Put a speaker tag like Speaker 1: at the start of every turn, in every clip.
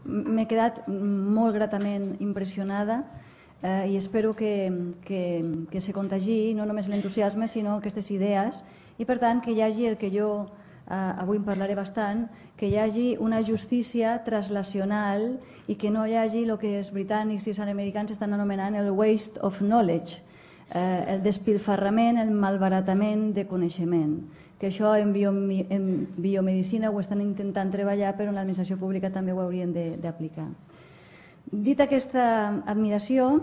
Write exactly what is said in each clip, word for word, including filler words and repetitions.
Speaker 1: m'he quedat molt gratament impressionada i espero que se contagiï no només l'entusiasme sinó aquestes idees i per tant que hi hagi el que jo avui en parlaré bastant, que hi hagi una justícia translacional i que no hi hagi el que els britànics i els americans estan anomenant el waste of knowledge, el despilfarrament, el malbaratament de coneixement, que això en biomedicina ho estan intentant treballar però en l'administració pública també ho haurien d'aplicar. Dit aquesta admiració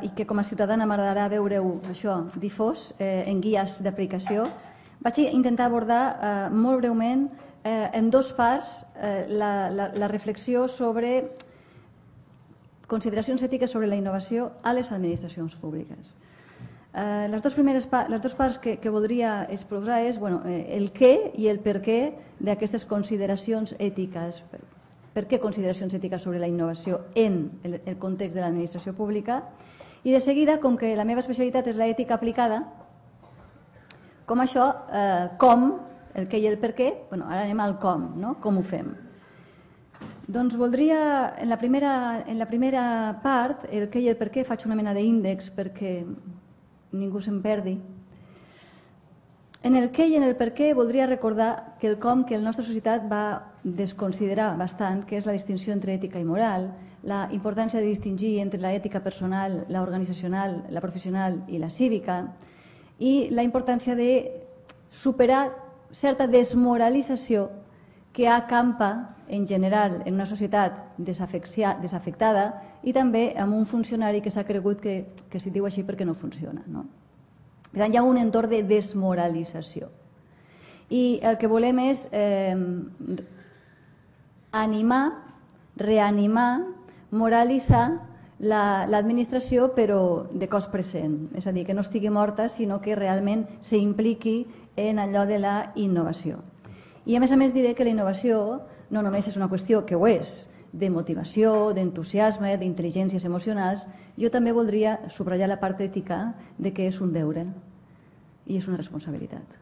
Speaker 1: i que com a ciutadana m'agradarà veure-ho això difós en guies d'aplicació, vaig intentar abordar molt breument en dos parts la reflexió sobre consideracions ètiques sobre la innovació a les administracions públiques. Les dues parts que voldria exposar és el què i el per què d'aquestes consideracions ètiques. Per què consideracions ètiques sobre la innovació en el context de l'administració pública? I de seguida, com que la meva especialitat és l'ètica aplicada, com això, com, el què i el per què, ara anem al com, com ho fem. Doncs voldria, en la primera part, el què i el per què, faig una mena d'índex perquè ningú se'n perdi. En el què i en el per què voldria recordar que el com que la nostra societat va desconsiderar bastant, que és la distinció entre ètica i moral, la importància de distingir entre l'ètica personal, la organitzacional, la professional i la cívica, i la importància de superar certa desmoralització que acampa en general en una societat desafectada i també amb un funcionari que s'ha cregut que s'hi diu així perquè no funciona. Per tant, hi ha un entorn de desmoralització. I el que volem és animar, reanimar, moralitzar l'administració però de cos present, és a dir, que no estigui morta sinó que realment s'impliqui en allò de la innovació. I a més a més diré que la innovació no només és una qüestió, que ho és, de motivació, d'entusiasme, d'intel·ligències emocionals, jo també voldria subratllar la part ètica de que és un deure i és una responsabilitat.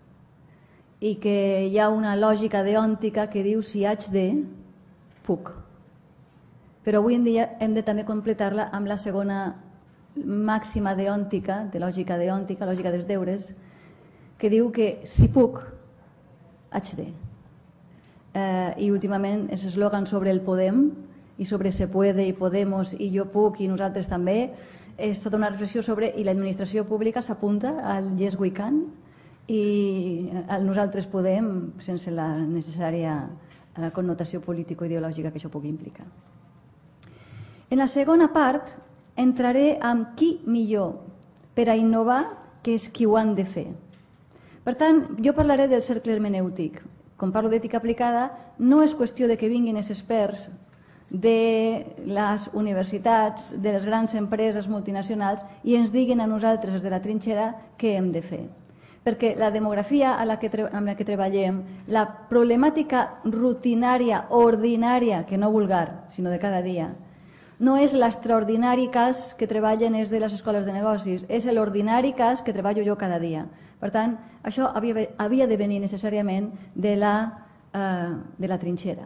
Speaker 1: I que hi ha una lògica deòntica que diu si haig de, puc. Però avui en dia hem de també completar-la amb la segona màxima deòntica, de lògica deòntica, lògica dels deures, que diu que si puc, haig de. I últimament els eslògans sobre el podem i sobre se puede i podemos i jo puc i nosaltres també és tota una reflexió sobre i l'administració pública s'apunta al yes we can i al nosaltres podem sense la necessària connotació político-ideològica que això pugui implicar. En la segona part entraré amb qui millor per a innovar que és qui ho han de fer. Per tant, jo parlaré del cercle hermenèutic. Com parlo d'ètica aplicada, no és qüestió de que vinguin els experts de les universitats, de les grans empreses multinacionals i ens diguin a nosaltres, des de la trinxera, què hem de fer. Perquè la demografia amb la que treballem, la problemàtica rutinària, ordinària, que no vulgar, sinó de cada dia, no és l'extraordinari cas que treballen és de les escoles de negocis, és l'ordinari cas que treballo jo cada dia. Per tant, això havia de venir necessàriament de la trinxera.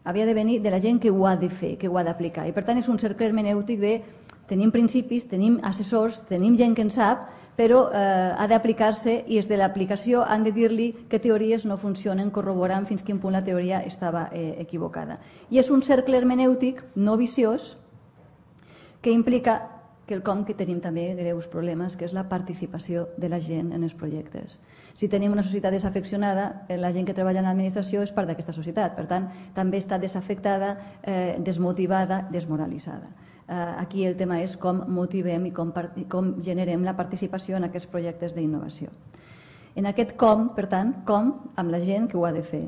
Speaker 1: Havia de venir de la gent que ho ha de fer, que ho ha d'aplicar. I per tant és un cercle hermenèutic de tenim principis, tenim assessors, tenim gent que en sap, però ha d'aplicar-se i des de l'aplicació han de dir-li que teories no funcionen, corroborant fins quin punt la teoria estava equivocada. I és un cercle hermenèutic no viciós que implica quelcom que tenim també greus problemes, que és la participació de la gent en els projectes. Si tenim una societat desafeccionada, la gent que treballa en l'administració és part d'aquesta societat, per tant, també està desafectada, desmotivada, desmoralitzada. Aquí el tema és com motivem i com generem la participació en aquests projectes d'innovació. En aquest com, per tant, com amb la gent que ho ha de fer.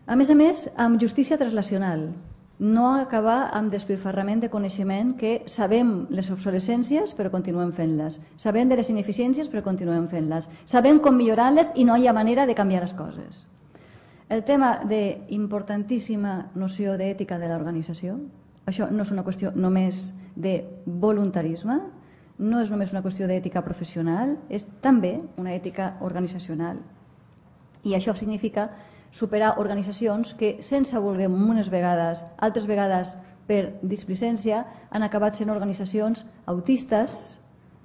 Speaker 1: A més a més, amb justícia translacional. No acabar amb despilfarrament de coneixement que sabem les obsolescències però continuem fent-les. Sabem de les ineficiències però continuem fent-les. Sabem com millorar-les i no hi ha manera de canviar les coses. El tema d'importantíssima noció d'ètica de l'organització, això no és una qüestió només de voluntarisme, no és només una qüestió d'ètica professional, és també una ètica organitzacional. I això significa superar organitzacions que, sense voler unes vegades, altres vegades per displicència, han acabat sent organitzacions autistes,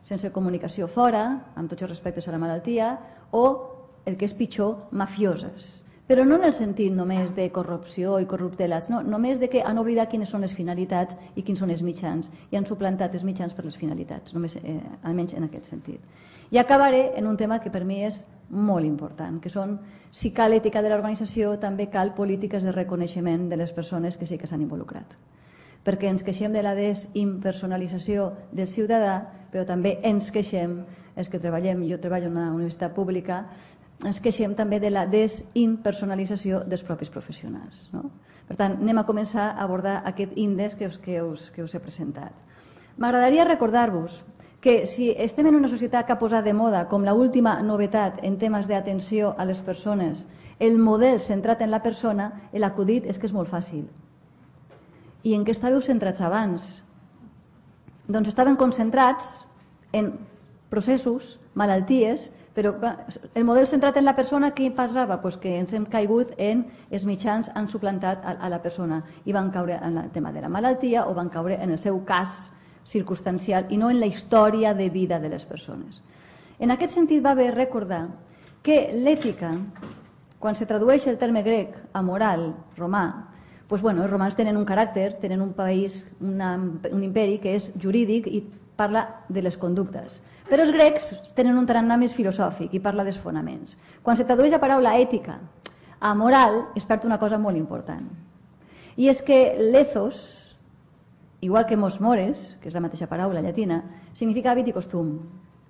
Speaker 1: sense comunicació fora, amb tots els respectes a la malaltia, o, el que és pitjor, mafioses. Però no en el sentit només de corrupció i corrupteles, no, només de que han oblidat quines són les finalitats i quins són els mitjans, i han suplantat els mitjans per les finalitats, només, eh, almenys en aquest sentit. I acabaré en un tema que per mi és molt important, que són, si cal ètica de l'organització, també cal polítiques de reconeixement de les persones que sí que s'han involucrat. Perquè ens queixem de la desimpersonalització del ciutadà, però també ens queixem, els que treballem, jo treballo en una universitat pública, ens queixem també de la desimpersonalització dels propis professionals. No? Per tant, anem a començar a abordar aquest índex que us, que us, que us he presentat. M'agradaria recordar-vos que si estem en una societat que ha posat de moda com l'última novetat en temes d'atenció a les persones, el model centrat en la persona, l'acudit és que és molt fàcil. I en què estàveu centrats abans? Doncs estaven concentrats en processos, malalties, però el model centrat en la persona, què passava? Pues que ens hem caigut en els mitjans han suplantat a la persona i van caure en el tema de la malaltia o van caure en el seu cas circumstancial i no en la història de vida de les persones. En aquest sentit va bé recordar que l'ètica, quan se tradueix el terme grec a moral romà, doncs, bueno, els romans tenen un caràcter, tenen un país, una, un imperi que és jurídic i parla de les conductes. Però els grecs tenen un tarannà més filosòfic i parla dels fonaments. Quan se tradueix la paraula ètica a moral es perd una cosa molt important. I és que l'ethos, igual que mos mores, que és la mateixa paraula llatina, significa hàbit i costum.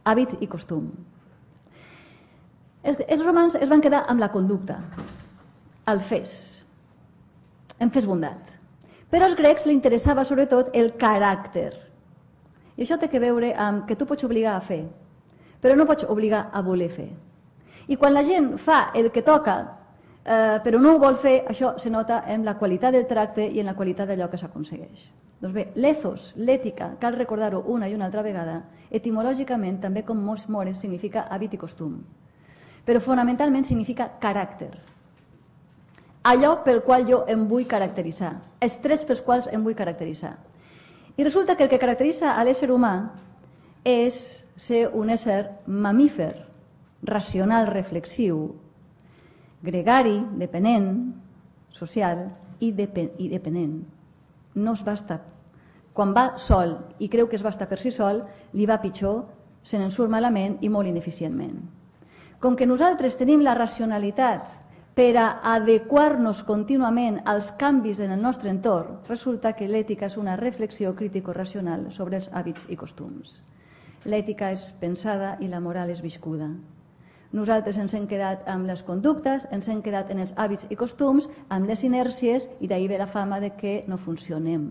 Speaker 1: Hàbit i costum. Els, els romans es van quedar amb la conducta, el fes, en fes bondat. Però als grecs li interessava sobretot el caràcter. I això té que veure amb que tu pots obligar a fer, però no pots obligar a voler fer. I quan la gent fa el que toca, eh, però no ho vol fer, això se nota en la qualitat del tracte i en la qualitat d'allò que s'aconsegueix. Doncs bé, l'ethos, l'ètica, cal recordar-ho una i una altra vegada, etimològicament, també com mos mores, significa hàbit i costum. Però fonamentalment significa caràcter. Allò pel qual jo em vull caracteritzar, els trets pels quals em vull caracteritzar. I resulta que el que caracteritza a l'ésser humà és ser un ésser mamífer, racional, reflexiu, gregari, dependent, social i, depen i dependent. No es basta. Quan va sol i creu que es basta per si sol, li va pitjor, se n'en surt malament i molt ineficientment. Com que nosaltres tenim la racionalitat per a adequar-nos contínuament als canvis en el nostre entorn, resulta que l'ètica és una reflexió crítico-racional sobre els hàbits i costums. L'ètica és pensada i la moral és viscuda. Nosaltres ens hem quedat amb les conductes, ens hem quedat en els hàbits i costums, amb les inèrcies, i d'ahir ve la fama de que no funcionem,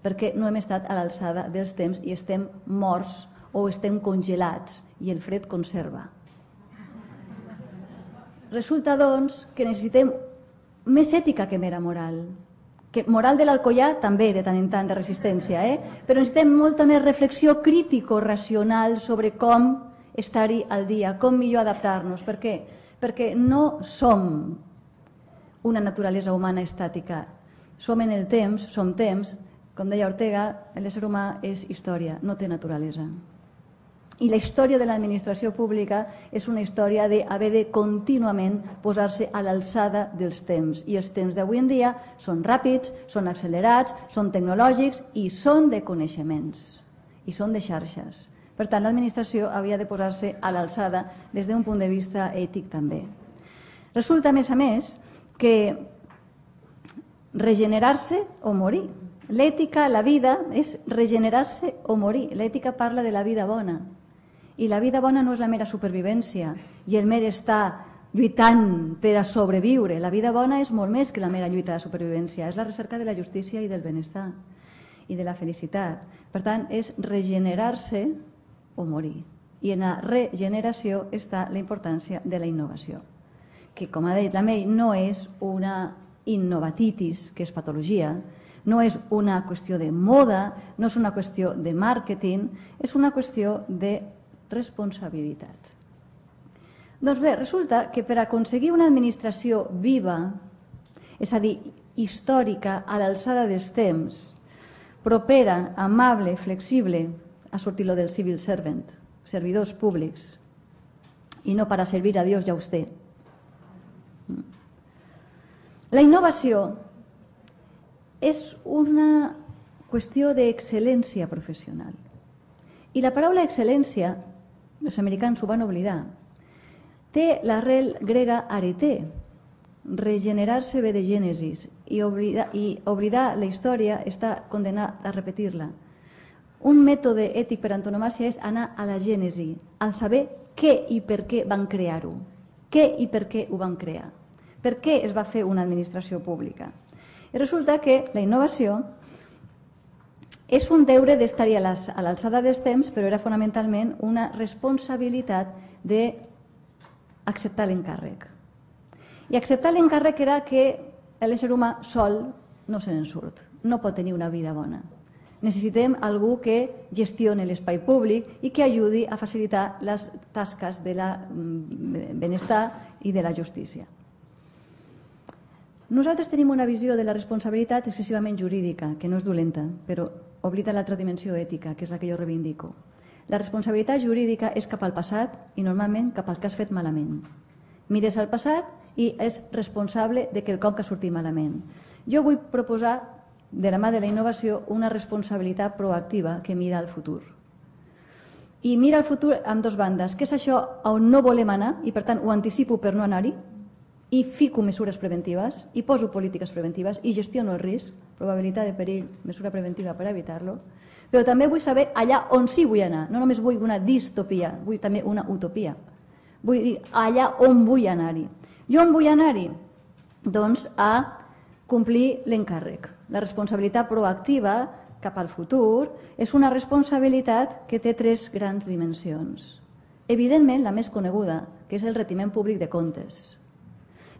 Speaker 1: perquè no hem estat a l'alçada dels temps i estem morts o estem congelats i el fred conserva. Resulta, doncs, que necessitem més ètica que mera moral. Que moral de l'Alcoià també, de tant en tant, de resistència, eh? Però necessitem molta més reflexió crítico-racional sobre com estar-hi al dia, com millor adaptar-nos. Per què? Perquè no som una naturalesa humana estàtica. Som en el temps, som temps. Com deia Ortega, l'ésser humà és història, no té naturalesa. I la història de l'administració pública és una història d'haver de contínuament posar-se a l'alçada dels temps. I els temps d'avui en dia són ràpids, són accelerats, són tecnològics i són de coneixements. I són de xarxes. Per tant, l'administració havia de posar-se a l'alçada des d'un punt de vista ètic també. Resulta, a més a més, que regenerar-se o morir. L'ètica, la vida, és regenerar-se o morir. L'ètica parla de la vida bona. I la vida bona no és la mera supervivència i el mer estar lluitant per a sobreviure. La vida bona és molt més que la mera lluita de supervivència. És la recerca de la justícia i del benestar i de la felicitat. Per tant, és regenerar-se o morir. I en la regeneració està la importància de la innovació, que, com ha dit la May, no és una innovatitis, que és patologia, no és una qüestió de moda, no és una qüestió de màrqueting, és una qüestió de responsabilitat. Doncs bé, resulta que per aconseguir una administració viva, és a dir, històrica, a l'alçada dels temps, propera, amable, flexible, ha sortit lo del civil servant, servidors públics, i no para servir a Dios y a usted. La innovació és una qüestió d'excel·lència professional. I la paraula excel·lència, els americans ho van oblidar, té l'arrel grega areté, regenerar-se ve de Gènesis, i oblidar, i oblidar la història està condenat a repetir-la. Un mètode ètic per antonomàsia és anar a la gènesi, al saber què i per què van crear-ho, què i per què ho van crear, per què es va fer una administració pública. I resulta que la innovació és un deure d'estar-hi a l'alçada dels temps, però era fonamentalment una responsabilitat d'acceptar l'encàrrec. I acceptar l'encàrrec era que l'ésser humà sol no se n'en surt, no pot tenir una vida bona. Necessitem algú que gestioni l'espai públic i que ajudi a facilitar les tasques del benestar i de la justícia. Nosaltres tenim una visió de la responsabilitat excessivament jurídica, que no és dolenta, però oblida l'altra dimensió ètica, que és la que jo reivindico. La responsabilitat jurídica és cap al passat i normalment cap al que has fet malament. Mires al passat i és responsable de quelcom que ha sortit malament. Jo vull proposar, de la mà de la innovació, una responsabilitat proactiva que mira al futur. I mira al futur amb dues bandes, que és això on no volem anar i per tant ho anticipo per no anar-hi, i fico mesures preventives, i poso polítiques preventives, i gestiono el risc, probabilitat de perill, mesura preventiva per evitar-lo, però també vull saber allà on sí vull anar. No només vull una distopia, vull també una utopia. Vull dir, allà on vull anar-hi. I on vull anar-hi? Doncs a complir l'encàrrec. La responsabilitat proactiva cap al futur és una responsabilitat que té tres grans dimensions. Evidentment, la més coneguda, que és el retiment públic de comptes.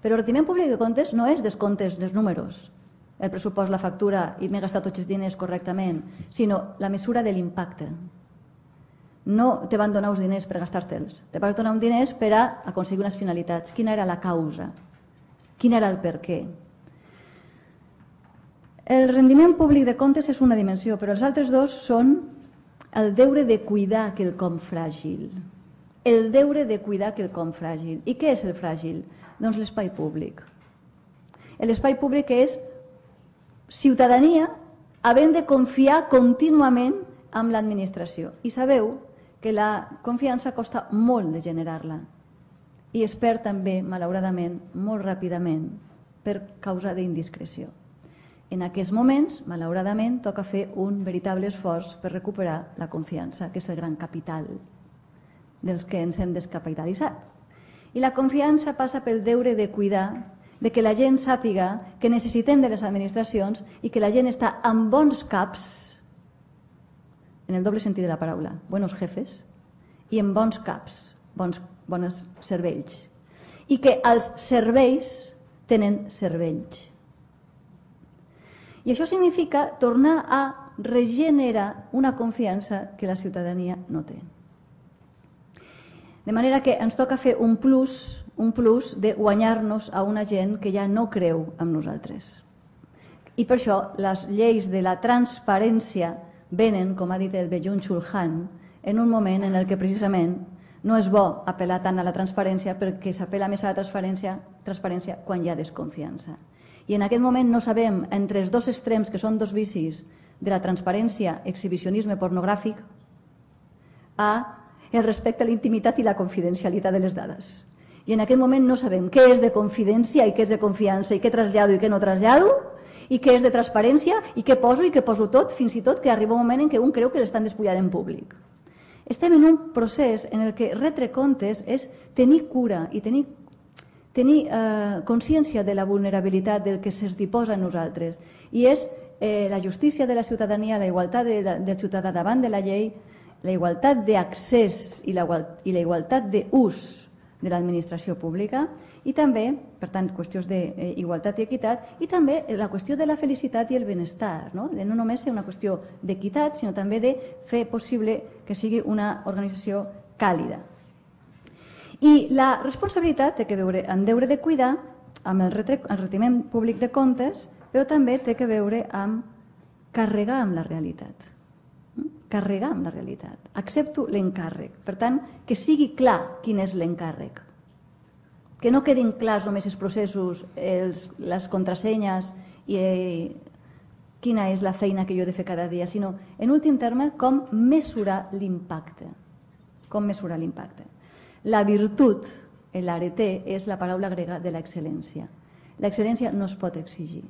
Speaker 1: Però el retiment públic de comptes no és descomptes dels números, el pressupost, la factura i m'he gastat tots els diners correctament, sinó la mesura de l'impacte. No te van donar uns diners per gastar-te'ls, te vas donar uns diners per a aconseguir unes finalitats. Quina era la causa? Quin era el per què? El rendiment públic de comptes és una dimensió, però els altres dos són el deure de cuidar quelcom fràgil. El deure de cuidar quelcom fràgil. I què és el fràgil? Doncs l'espai públic. L'espai públic és ciutadania havent de confiar contínuament en l'administració. I sabeu que la confiança costa molt de generar-la i es perd també, malauradament, molt ràpidament per causa d'indiscreció. En aquests moments, malauradament, toca fer un veritable esforç per recuperar la confiança, que és el gran capital dels que ens hem descapitalitzat. I la confiança passa pel deure de cuidar, de que la gent sàpiga que necessitem de les administracions i que la gent està en bons caps, en el doble sentit de la paraula, buenos jefes, i en bons caps, bons, bons cervells. I que els serveis tenen cervells. I això significa tornar a regenerar una confiança que la ciutadania no té. De manera que ens toca fer un plus, un plus de guanyar-nos a una gent que ja no creu en nosaltres. I per això les lleis de la transparència venen, com ha dit el Byung-Chul Han, en un moment en el que precisament no és bo apel·lar tant a la transparència perquè s'apel·la més a la transparència, transparència quan hi ha desconfiança. I en aquest moment no sabem, entre els dos extrems, que són dos vicis, de la transparència, exhibicionisme pornogràfic, a el respecte a la intimitat i la confidencialitat de les dades. I en aquest moment no sabem què és de confidència i què és de confiança i què trasllado i què no trasllado i què és de transparència i què poso i què poso tot, fins i tot que arriba un moment en què un creu que l'estan despullant en públic. Estem en un procés en el que retre comptes és tenir cura i tenir, tenir eh, consciència de la vulnerabilitat del que se'ns diposa a nosaltres. I és eh, la justícia de la ciutadania, la igualtat de la, del ciutadà davant de la llei, la igualtat d'accés i la, i la igualtat d'ús de l'administració pública i també, per tant, qüestions d'igualtat i equitat i també la qüestió de la felicitat i el benestar, no? De no només ser una qüestió d'equitat, sinó també de fer possible que sigui una organització càlida. I la responsabilitat té que veure amb deure de cuidar, amb el retiment públic de comptes, però també té que veure amb carregar amb la realitat. Carregar amb la realitat. Accepto l'encàrrec. Per tant, que sigui clar quin és l'encàrrec. Que no quedin clars només els processos, les contrasenyes i quina és la feina que jo he de fer cada dia, sinó, en últim terme, com mesurar l'impacte. Com mesurar l'impacte. La virtut, l'arete, és la paraula grega de l'excel·lència. L'excel·lència no es pot exigir,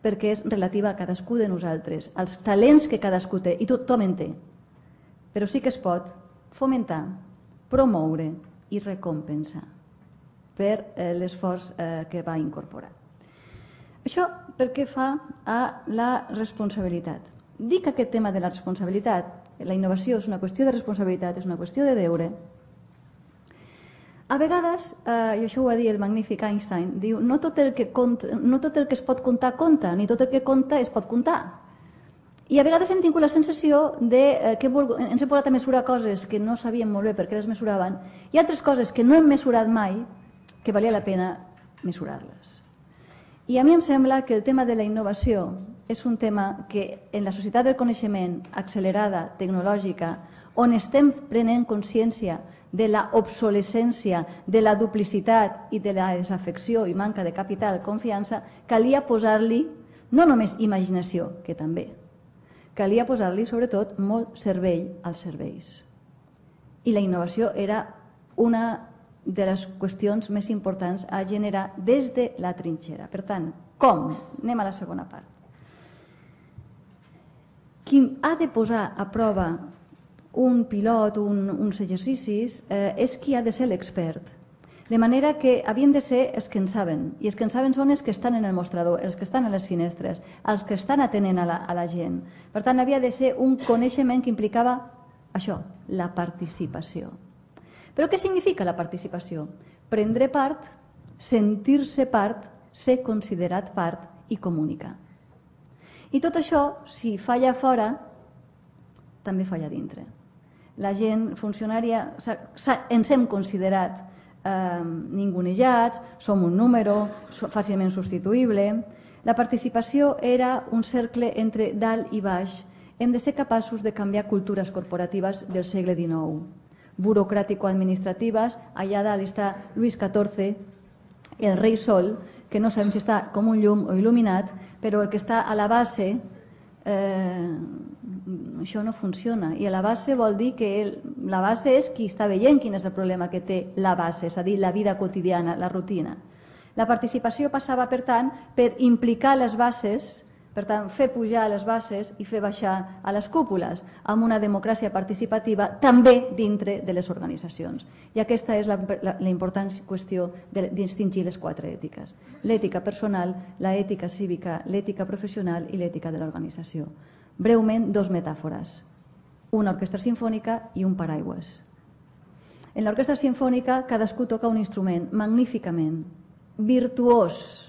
Speaker 1: perquè és relativa a cadascú de nosaltres, als talents que cadascú té, i tothom en té. Però sí que es pot fomentar, promoure i recompensar per l'esforç que va incorporar. Això perquè fa a la responsabilitat. Dic que aquest tema de la responsabilitat, la innovació és una qüestió de responsabilitat, és una qüestió de deure. A vegades, i això ho va dir el magnífic Einstein, diu no tot el que es pot comptar, compta, ni tot el que compta es pot comptar. I a vegades hem tingut la sensació que ens hem posat a mesurar coses que no sabíem molt bé per què les mesuraven i altres coses que no hem mesurat mai que valia la pena mesurar-les. I a mi em sembla que el tema de la innovació és un tema que en la societat del coneixement accelerada, tecnològica, on estem prenent consciència de la obsolescència, de la duplicitat i de la desafecció i manca de capital, confiança, calia posar-li no només imaginació, que també, calia posar-li sobretot molt cervell als serveis. I la innovació era una de les qüestions més importants a generar des de la trinxera. Per tant, com? Anem a la segona part. Qui ha de posar a prova un pilot, uns exercicis, és qui ha de ser l'expert. De manera que havien de ser els que en saben, i els que en saben són els que estan en el mostrador, els que estan a les finestres, els que estan atenent a la gent. Per tant, havia de ser un coneixement que implicava això, la participació. Però què significa la participació? Prendre part, sentir-se part, ser considerat part i comunicar. I tot això, si falla fora, també falla dintre. La gent funcionària, ens hem considerat ningunejats, som un número, fàcilment substituïble. La participació era un cercle entre dalt i baix. Hem de ser capaços de canviar cultures corporatives del segle dinou. Burocràtico-administratives, allà dalt està Luis catorze, el rei Sol, que no sabem si està com un llum o il·luminat, però el que està a la base, això no funciona. I a la base vol dir que la base és qui està veient quin és el problema que té la base, és a dir, la vida quotidiana, la rutina. La participació passava, per tant, per implicar les bases, per tant, fer pujar les bases i fer baixar a les cúpules, amb una democràcia participativa també dintre de les organitzacions. I aquesta és la important qüestió de distingir les quatre ètiques. L'ètica personal, l'ètica cívica, l'ètica professional i l'ètica de l'organització. Breument, dos metàfores. Una orquestra simfònica i un paraigües. En l'orquestra simfònica cadascú toca un instrument magníficament, virtuós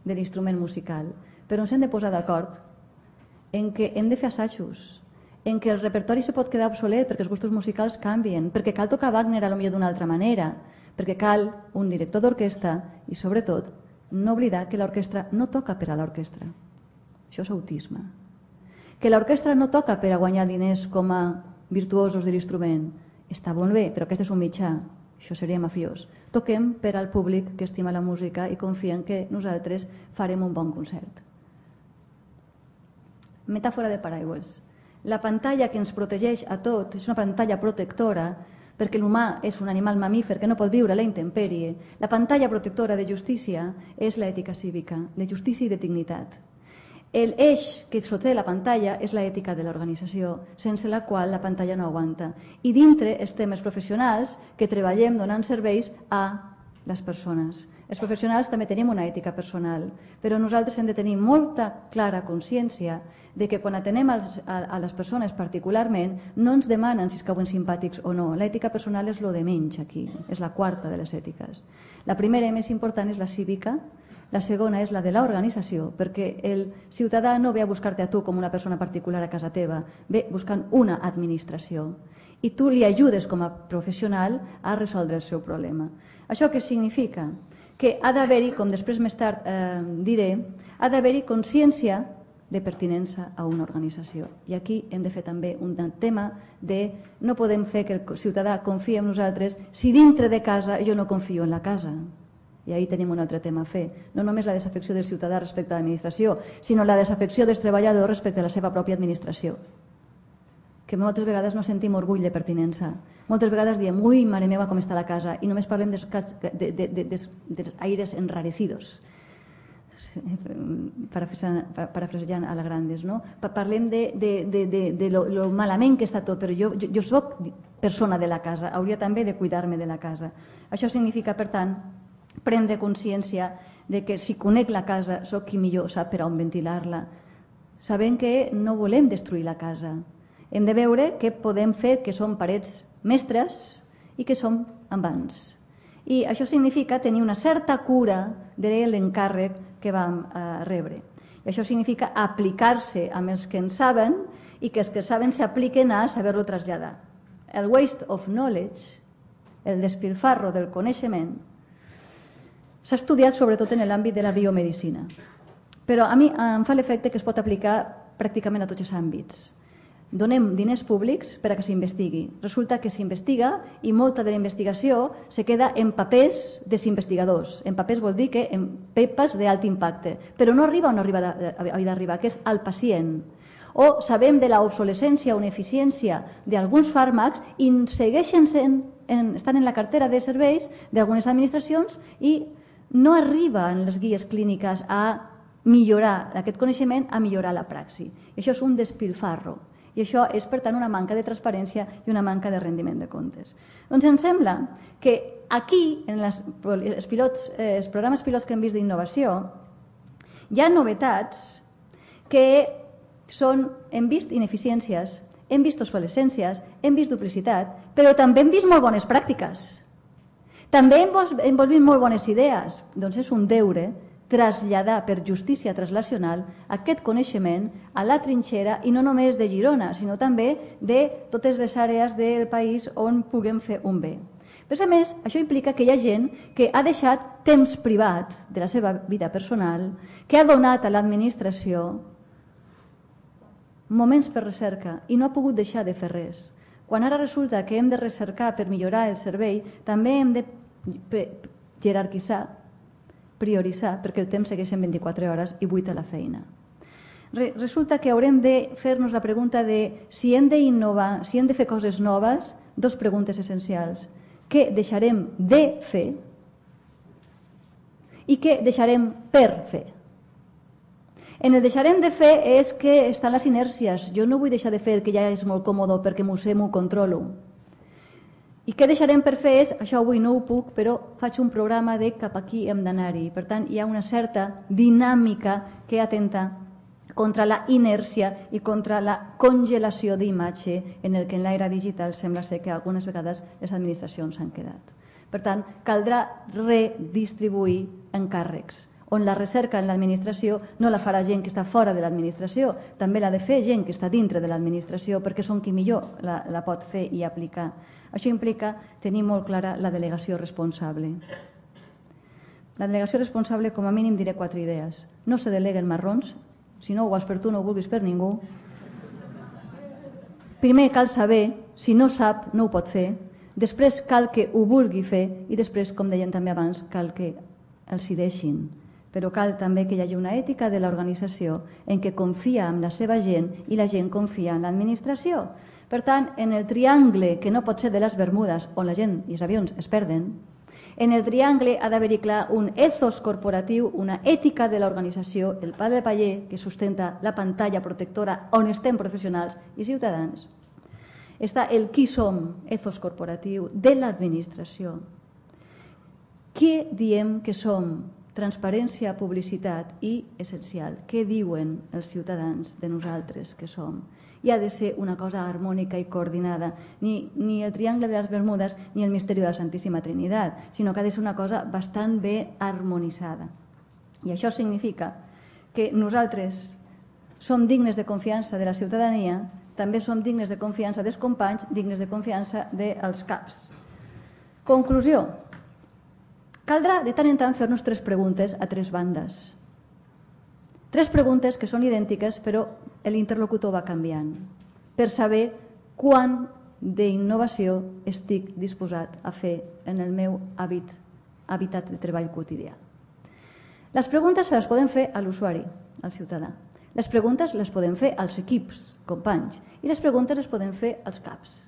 Speaker 1: de l'instrument musical, però ens hem de posar d'acord en què hem de fer assajos, en què el repertori se pot quedar obsolet perquè els gustos musicals canvien, perquè cal tocar Wagner a lo millor d'una altra manera, perquè cal un director d'orquestra i, sobretot, no oblidar que l'orquestra no toca per a l'orquestra. Això és autisme. Que l'orquestra no toca per a guanyar diners com a virtuosos de l'instrument. Està molt bé, però aquest és un mitjà. Això seria mafiós. Toquem per al públic que estima la música i confien que nosaltres farem un bon concert. Metàfora de paraigües. La pantalla que ens protegeix a tot és una pantalla protectora perquè l'humà és un animal mamífer que no pot viure a la intempèrie. La pantalla protectora de justícia és l'ètica cívica, de justícia i de dignitat. L'eix que sosté la pantalla és l'ètica de l'organització, sense la qual la pantalla no aguanta. I dintre els temes professionals que treballem donant serveis a les persones. Els professionals també tenim una ètica personal, però nosaltres hem de tenir molta clara consciència de que quan atenem a les persones particularment no ens demanen si es cauen simpàtics o no. L'ètica personal és lo de menys aquí, és la quarta de les ètiques. La primera i més important és la cívica, La segona és la de l'organització, perquè el ciutadà no ve a buscar-te a tu com una persona particular a casa teva, ve buscant una administració i tu li ajudes com a professional a resoldre el seu problema. Això què significa? Que ha d'haver-hi, com després més tard eh, diré, ha d'haver-hi consciència de pertinença a una organització. I aquí hem de fer també un tema de no podem fer que el ciutadà confiï en nosaltres si dintre de casa jo no confio en la casa. I ahí tenim un altre tema a fer. No només la desafecció del ciutadà respecte a l'administració, sinó la desafecció dels treballadors respecte a la seva pròpia administració. Que moltes vegades no sentim orgull de pertinença. Moltes vegades diem, ui, mare meva, com està la casa, i només parlem dels de, de, de, de, de aires enrarecidos, parafrasejant a la Grandes, no? Parlem de, de, de, de, de lo, lo malament que està tot, però jo, jo, jo soc persona de la casa, hauria també de cuidar-me de la casa. Això significa, per tant, prendre consciència de que si conec la casa soc qui millor sap per on ventilar-la, sabent que no volem destruir la casa. Hem de veure què podem fer, que són parets mestres i que som envans. I això significa tenir una certa cura de l'encàrrec que vam eh, rebre. I això significa aplicar-se amb els que en saben i que els que saben s'apliquen a saber-lo traslladar. El waste of knowledge, el despilfarro del coneixement, s'ha estudiat sobretot en l'àmbit de la biomedicina. Però a mi em fa l'efecte que es pot aplicar pràcticament a tots els àmbits. Donem diners públics per a que s'investigui. Resulta que s'investiga i molta de la investigació se queda en papers dels investigadors. En papers vol dir que en pepes d'alt impacte, però no arriba on arriba d'arribar, que és al pacient. O sabem de l'obsolescència o ineficiència d'alguns fàrmacs i segueixen sent, en, estan en la cartera de serveis d'algunes administracions i no arriba en les guies clíniques a millorar aquest coneixement, a millorar la praxi. I això és un despilfarro. I això és, per tant, una manca de transparència i una manca de rendiment de comptes. Doncs em sembla que aquí, en les, els, pilots, eh, els programes pilots que hem vist d'innovació, hi ha novetats que són, hem vist ineficiències, hem vist obsolescències, hem vist duplicitat, però també hem vist molt bones pràctiques. També hem, hem vist molt bones idees. Doncs és un deure traslladar per justícia translacional aquest coneixement a la trinxera i no només de Girona, sinó també de totes les àrees del país on puguem fer un bé. Però a més, això implica que hi ha gent que ha deixat temps privat de la seva vida personal, que ha donat a l'administració moments per recerca i no ha pogut deixar de fer res. Quan ara resulta que hem de recercar per millorar el servei, també hem de jerarquitzar, prioritzar, perquè el temps segueix en vint-i-quatre hores i vuit a la feina. Resulta que haurem de fer-nos la pregunta de si hem d'innovar, si hem de fer coses noves, dos preguntes essencials. Què deixarem de fer i què deixarem per fer? En el deixarem de fer és que estan les inèrcies. Jo no vull deixar de fer el que ja és molt còmode perquè m'ho sé, m'ho controlo. I què deixarem per fer és, això avui no ho puc, però faig un programa de cap aquí hem d'anar-hi. Per tant, hi ha una certa dinàmica que atenta contra la inèrcia i contra la congelació d'imatge en el que en l'era digital sembla ser que algunes vegades les administracions s'han quedat. Per tant, caldrà redistribuir encàrrecs, on la recerca en l'administració no la farà gent que està fora de l'administració, també l'ha de fer gent que està dintre de l'administració perquè són qui millor la, la pot fer i aplicar. Això implica tenir molt clara la delegació responsable. La delegació responsable, com a mínim, diré quatre idees. No se deleguen marrons, si no ho vols per tu no ho vulguis per ningú. Primer cal saber, si no sap no ho pot fer, després cal que ho vulgui fer i després, com deien també abans, cal que els hi deixin. Però cal també que hi hagi una ètica de l'organització en què confia en la seva gent i la gent confia en l'administració. Per tant, en el triangle que no pot ser de les Bermudes, on la gent i els avions es perden, en el triangle ha d'haver-hi clar un ethos corporatiu, una ètica de l'organització, el pa de paller que sustenta la pantalla protectora on estem professionals i ciutadans. Està el qui som, ethos corporatiu, de l'administració. Què diem que som? Transparència, publicitat i, essencial, què diuen els ciutadans de nosaltres que som? I ha de ser una cosa harmònica i coordinada, ni, ni el triangle de les Bermudes ni el misteri de la Santíssima Trinitat, sinó que ha de ser una cosa bastant bé harmonitzada. I això significa que nosaltres som dignes de confiança de la ciutadania, també som dignes de confiança dels companys, dignes de confiança dels caps. Conclusió. Caldrà de tant en tant fer-nos tres preguntes a tres bandes. Tres preguntes que són idèntiques, però l'interlocutor va canviant, per saber quant d'innovació estic disposat a fer en el meu hàbit, hàbitat de treball quotidià. Les preguntes se les podem fer a l'usuari, al ciutadà. Les preguntes les podem fer als equips, companys, i les preguntes les podem fer als caps.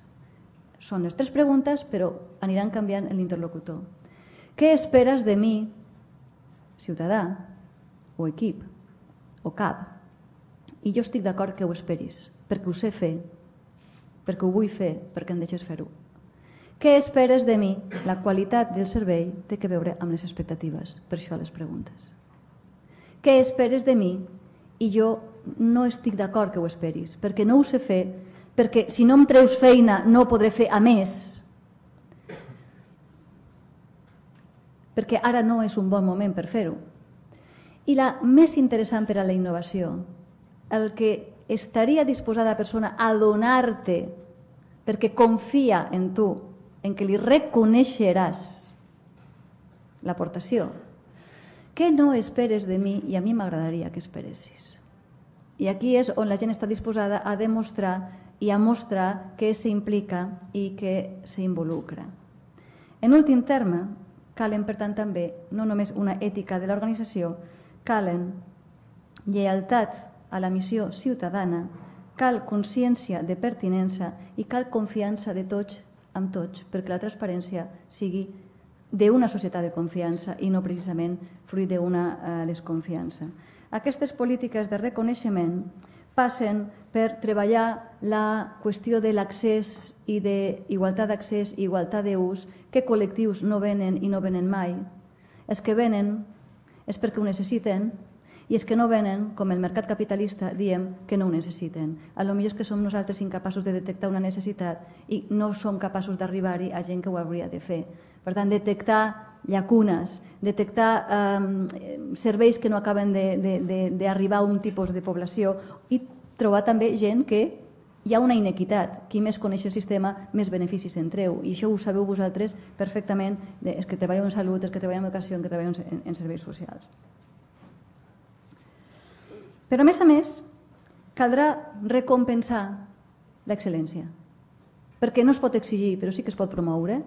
Speaker 1: Són les tres preguntes, però aniran canviant l'interlocutor. Què esperes de mi, ciutadà, o equip, o cap? I jo estic d'acord que ho esperis, perquè ho sé fer, perquè ho vull fer, perquè em deixes fer-ho. Què esperes de mi? La qualitat del servei té que veure amb les expectatives, per això les preguntes. Què esperes de mi? I jo no estic d'acord que ho esperis, perquè no ho sé fer, perquè si no em treus feina no ho podré fer a més, perquè ara no és un bon moment per fer-ho. I la més interessant per a la innovació, el que estaria disposada la persona a donar-te perquè confia en tu, en què li reconeixeràs l'aportació. Què no esperes de mi? I a mi m'agradaria que esperessis. I aquí és on la gent està disposada a demostrar i a mostrar que s'implica i que s'involucra. En últim terme, calen, per tant, també no només una ètica de l'organització, calen lleialtat a la missió ciutadana, cal consciència de pertinença i cal confiança de tots amb tots, perquè la transparència sigui d'una societat de confiança i no precisament fruit d'una desconfiança. Aquestes polítiques de reconeixement passen per treballar la qüestió de l'accés i d'igualtat d'accés i igualtat d'ús, que col·lectius no venen i no venen mai. Els que venen és perquè ho necessiten i els que no venen, com el mercat capitalista, diem que no ho necessiten. A lo millor és que som nosaltres incapaços de detectar una necessitat i no som capaços d'arribar-hi a gent que ho hauria de fer. Per tant, detectar llacunes, detectar eh, serveis que no acaben d'arribar a un tipus de població i trobar també gent que hi ha una inequitat. Qui més coneix el sistema, més beneficis en treu. I això ho sabeu vosaltres perfectament, els que treballeu en salut, els que treballeu en educació, els que treballeu en, en serveis socials. Però, a més a més, caldrà recompensar l'excel·lència. Perquè no es pot exigir, però sí que es pot promoure.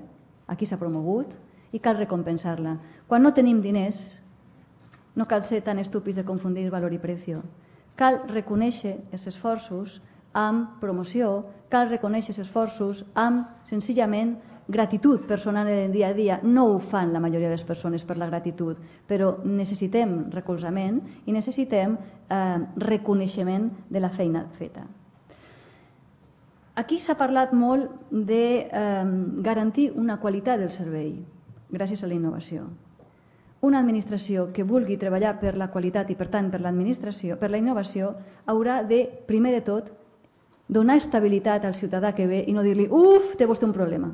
Speaker 1: Aquí s'ha promogut i cal recompensar-la. Quan no tenim diners, no cal ser tan estúpids de confundir valor i precio. Cal reconèixer els esforços amb promoció, cal reconèixer els esforços amb, senzillament, gratitud personal en el dia a dia. No ho fan la majoria de les persones per la gratitud, però necessitem recolzament i necessitem eh, reconeixement de la feina feta. Aquí s'ha parlat molt de eh, garantir una qualitat del servei gràcies a la innovació. Una administració que vulgui treballar per la qualitat i, per tant, per l'administració, per la innovació, haurà de, primer de tot, donar estabilitat al ciutadà que ve i no dir-li «Uf, té vostè un problema».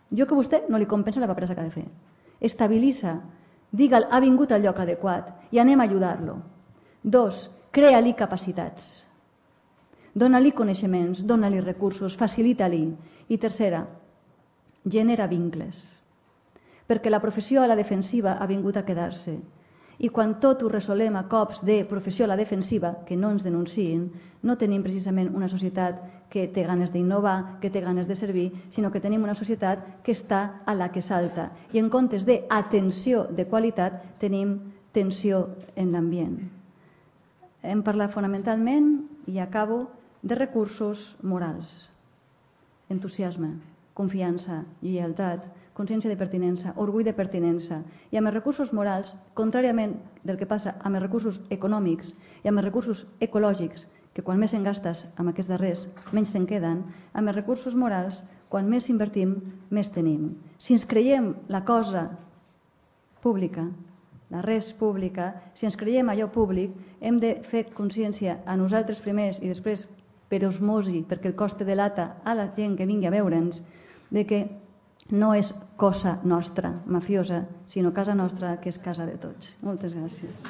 Speaker 1: Jo que vostè no li compensa la paperassa que ha de fer. Estabilitza, digue'l, ha vingut al lloc adequat i anem a ajudar-lo. Dos, crea-li capacitats. Dóna-li coneixements, dóna-li recursos, facilita-li. I tercera, genera vincles. Perquè la professió a la defensiva ha vingut a quedar-se. I quan tot ho resolem a cops de professió a la defensiva, que no ens denunciïn, no tenim precisament una societat que té ganes d'innovar, que té ganes de servir, sinó que tenim una societat que està a la que salta. I en comptes d'atenció de qualitat, tenim tensió en l'ambient. Hem parlat fonamentalment, i acabo, de recursos morals. Entusiasme, confiança, lleialtat, consciència de pertinença, orgull de pertinença. I amb els recursos morals, contràriament del que passa amb els recursos econòmics i amb els recursos ecològics, que quan més en gastes amb aquests darrers, menys se'n queden, amb els recursos morals, quan més invertim, més tenim. Si ens creiem la cosa pública, la res pública, si ens creiem allò públic, hem de fer consciència a nosaltres primers i després per osmosi, perquè el cost de lata a la gent que vingui a veure'ns, de que no és cosa nostra, mafiosa, sinó casa nostra, que és casa de tots. Moltes gràcies.